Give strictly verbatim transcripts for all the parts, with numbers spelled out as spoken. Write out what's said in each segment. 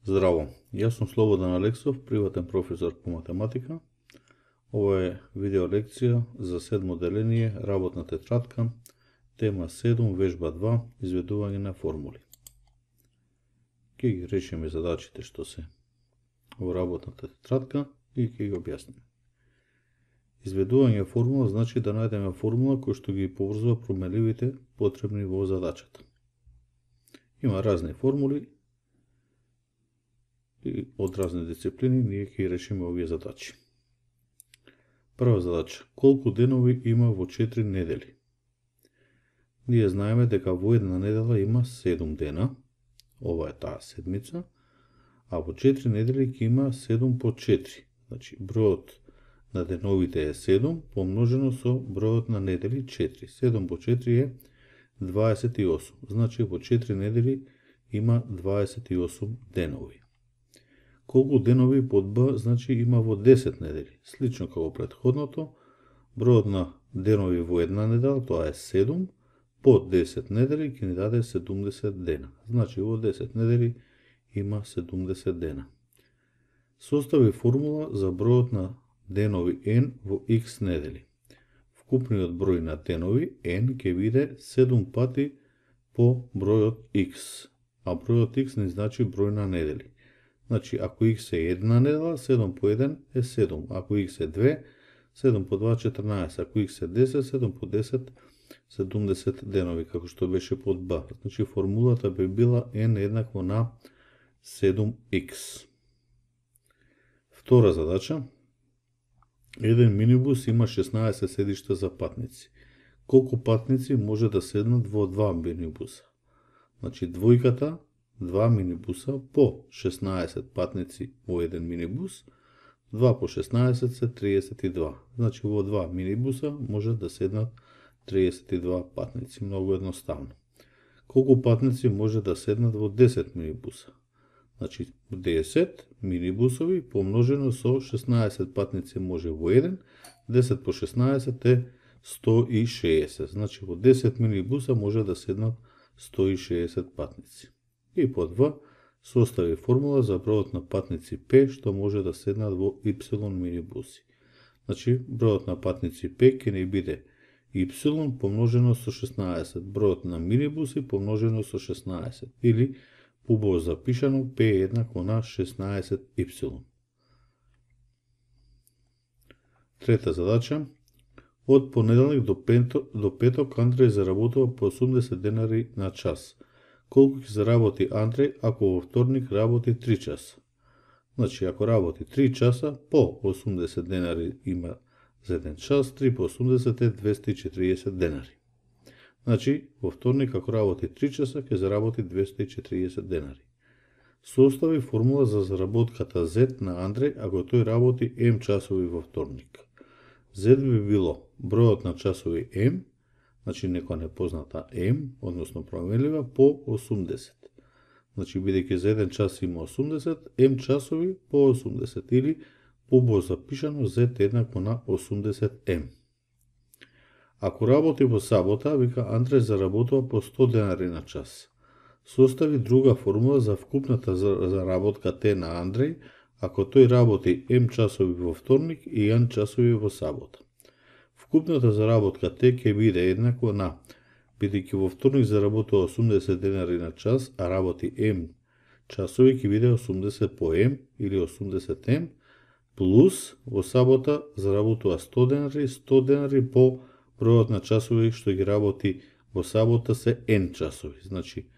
Здраво, јас сум Слободан Алексов, приватен професор по математика. Ова е видео лекција за седмо деление, работна тетрадка, тема седум, вежба два, изведување на формули. Ке ги решиме задачите што се во работната тетрадка и ке ги објасниме. Изведување формула значи да најдеме формула која што ги поврзува променливите потребни во задачата. Има разни формули и од разни дисциплини ние ќе решиме овие задачи. Прва задача: колку денови има во четири недели? Ние знаеме дека во една недела има седум дена, ова е таа седмица, а во четири недели ќе има седум по четири. Значи бројот на деновите е седум помножено со бројот на недели четири. седум по четири е дваесет и осум. Значи во четири недели има дваесет и осум денови. Колку денови под Б значи има во десет недели. Слично како претходното, бројот на денови во една недела, тоа е седум, по десет недели ќе ни даде седумдесет дена. Значи во десет недели има седумдесет дена. Состави формула за бројот на денови n во x недели. Вкупниот број на денови n ќе биде седум пати по бројот x, а бројот x не значи број на недели. Значи, ако x е една недела, седум по еден е седум. Ако x е две, седум по два, четрнаесет. Ако x е десет, седум по десет, седумдесет денови, како што беше под Б. Значи, формулата би била n еднакво на седум икс. Втора задача. Еден минибус има шеснаесет седишта за патници. Колку патници може да седнат во два минибуса? Значи, двојката, два минибуса по шеснаесет патници во еден минибус, два по шеснаесет се триесет и два. Значи во два минибуса може да седнат триесет и два патници. Многу едноставно. Колку патници може да седнат во десет минибуса? Значи десет минибусови помножено со шеснаесет патници може во еден, десет по шеснаесет е сто и шеесет. Значи во десет минибуса може да седнат сто и шеесет патници. И под В состави формула за бројот на патници P што може да седнат во Y минибуси. Значи, бројот на патници P ќе ни биде Y помножено со шеснаесет, бројот на минибуси помножено со шеснаесет, или убаво запишано P е еднакво на шеснаесет Y. Трета задача. Од понеделник до, пето, до петок Андреј заработува по осумдесет денари на час. Колку ќе заработи Андреј ако во вторник работи три часа? Значи, ако работи три часа, по осумдесет денари има за еден час, три по осумдесет е двесте и четириесет денари. Значи, во вторник ако работи три часа, ќе заработи двесте и четириесет денари. Состави формула за заработката Z на Андреј ако тој работи M часови во вторник. Z би било бројот на часови M, значи некоја непозната M, односно променлива, по осумдесет. Значи, бидејќи за еден час има осумдесет, M часови по осумдесет, или убаво запишано Z еднакво на осумдесет M. Ако работи во сабота, вика Андреј заработува по сто денари на час. Состави друга формула за вкупната заработка Т на Андреј ако тој работи M часови во вторник и N часови во сабота. Вкупната заработка Т ќе биде еднакво на, бидејќи во вторник заработува осумдесет денари на час, а работи M часови ќе биде осумдесет по M или осумдесет M, плюс во сабота заработува сто денари, сто денари по бројот на часови што ги работи во сабота се N часови. Значи,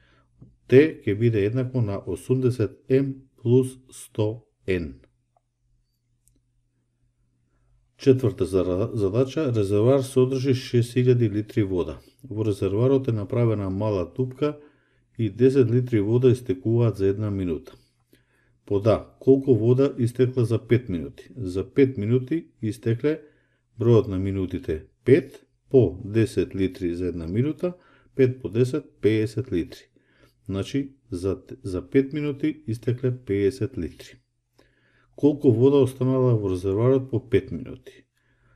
Т ќе биде еднакво на осумдесет M плюс сто N. Четврта задача. Резервоар содржи шест илјади литри вода. Во резервоарот е направена мала тупка и десет литри вода истекуваат за една минута. Под А, колку вода истекла за пет минути? За пет минути истекле бројот на минутите пет по десет литри за една минута, пет по десет, педесет литри. Значи, за, за пет минути истекле педесет литри. Колку вода останала во резервоарот по пет минути?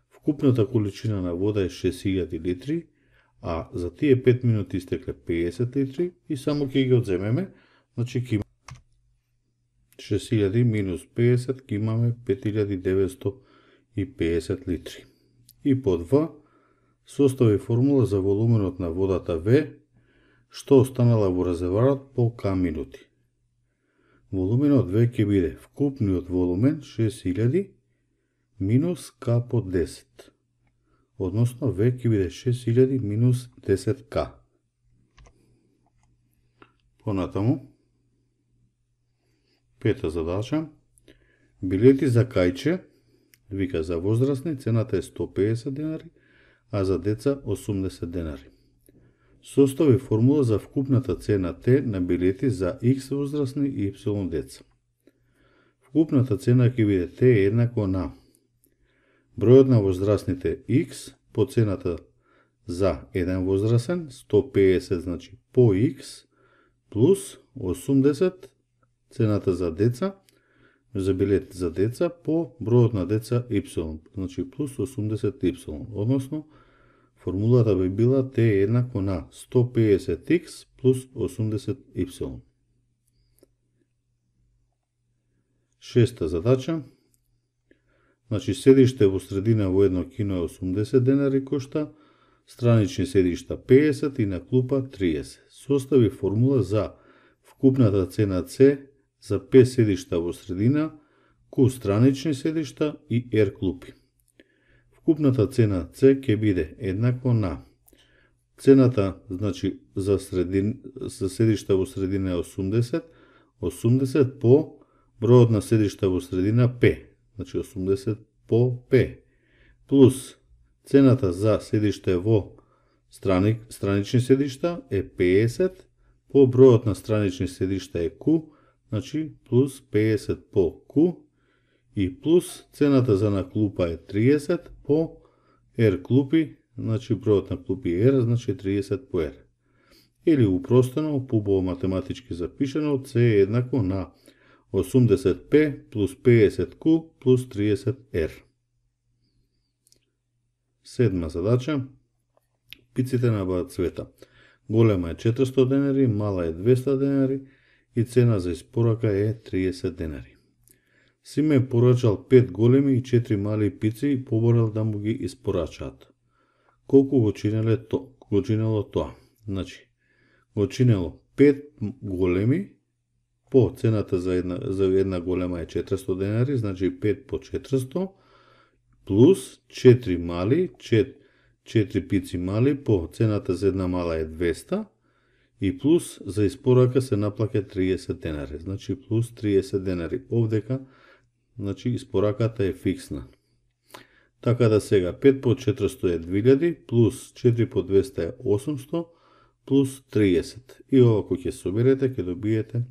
Вкупната количина на вода е шест илјади литри, а за тие пет минути истекле педесет литри и само ќе ги одземеме, значи ќе шест илјади минус педесет, ќе имаме пет илјади деветсто и педесет литри. И под В, состави формула за волуменот на водата В, што останала во резервоарот по К минути. Волуменот В ќе биде вкупниот волумен шест илјади минус К по десет. Односно В ќе биде шест илјади минус десет К. Понатаму, пета задача. Билети за кајче, вика за возрастни, цената е сто педесет денари, а за деца осумдесет денари. Состави формула за вкупната цена Т на билети за X возрастни и Y деца. Вкупната цена ќе биде Т еднакво на бројот на возрастните X по цената за еден возрастен, сто педесет значи по X, плюс осумдесет цената за деца, за билет за деца по бројот на деца Y, значи плюс осумдесет Y. Односно, формулата би била Т еднакво на сто педесет X плюс осумдесет Y. Шеста задача. Значи, седиште во средина во едно кино е осумдесет денари кошта, странични седишта педесет и на клупа триесет. Состави формула за вкупната цена С за пет седишта во средина, Q странични седишта и R клупи. Вкупната цена С ќе биде еднакво на цената, значи за средин, за седишта во средина е осумдесет, осумдесет по бројот на седишта во средина P, значи осумдесет по P, плюс цената за седиште во страни, странични седишта е педесет, по бројот на странични седишта е Q, значи плюс педесет по Q, и плюс цената за на клупа е триесет по R клупи, значи бројот на клупи е R, значи триесет по R. Или упростено, побово математички запишено, С е еднакво на осумдесет П плюс педесет Q плюс триесет R. Седма задача. Пиците на баат цвета. Голема е четиристо денари, мала е двесте денари и цена за испорака е триесет денари. Симе е порачал пет големи и четири мали пици и поборал да му ги испорачаат. Колку го чинеле то, го чинело тоа? Значи, го чинело пет големи, по цената за една, за една голема е четиристо денари, значи пет по четиристо, плюс четири мали, четири пици мали, по цената за една мала е двесте, и плюс за испорака се наплаќа триесет денари, значи плюс триесет денари. Овдека, значи испораката е фиксна. Така да сега пет по четиристо е две илјади, плюс четири по двесте е осумсто, плюс триесет. И ова кој ќе соберете, ќе добиете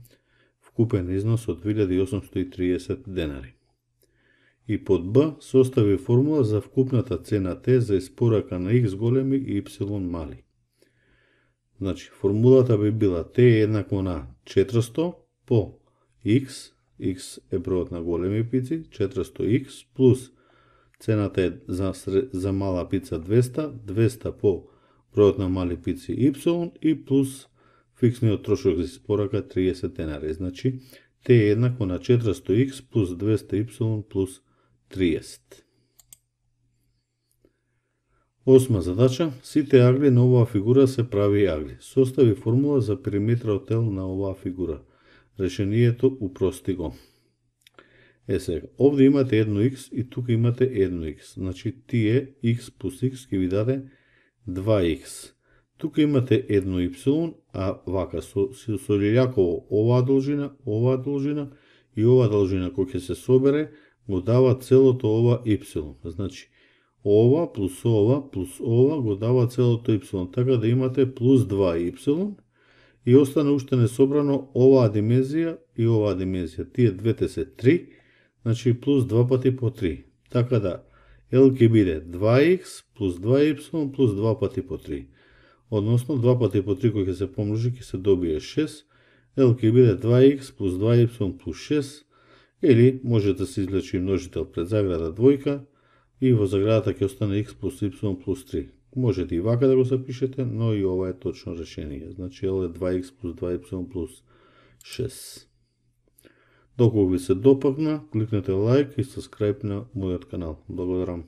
вкупен износ од две илјади осумсто и триесет денари. И под Б состави формула за вкупната цена Т за испорака на X големи и Y мали. Значи, формулата би била Т еднакво на четиристо по X, X е бројот на големи пици, четиристо X, плюс цената е за, за мала пица двесте, двесте по бројот на мали пици Y и плюс фиксниот трошок за испорака триесет денари. Значи, Т е еднакво на четиристо X плюс двесте Y плюс триесет. Осма задача. Сите агли на оваа фигура се прави агли. Состави формула за периметрот тел на оваа фигура. Решението упрости го. Е сега, овде имате едно X и тука имате едно X. Значи, тие X плюс X ќе ви даде два X. Тука имате едно Y, а вака со, со, со лилјаково оваа должина, оваа должина и оваа должина кој ќе се собере, го дава целото ова Y. Значи, ова плюс ова плюс ова го дава целото Y. Така да имате плюс два Y и остане уште несобрано оваа димензија и оваа димензија. Тие двете се три, значи плюс два пати по три. Така да L ќе биде два X плюс два Y плюс два пати по три. Односно два пати по три кој ќе се помножи ќе се добие шест. L ќе биде два X плюс два Y плюс шест. Или може да се извлечи множител пред заграда двојка и во заградата ќе остане X плюс Y плюс три. Можете и вака да го запишете, но и ова е точно решение. Значи L е два X плюс два Y плюс шест. Доколку ви се допадна, кликнете лайк и subscribe на мојот канал. Благодарам.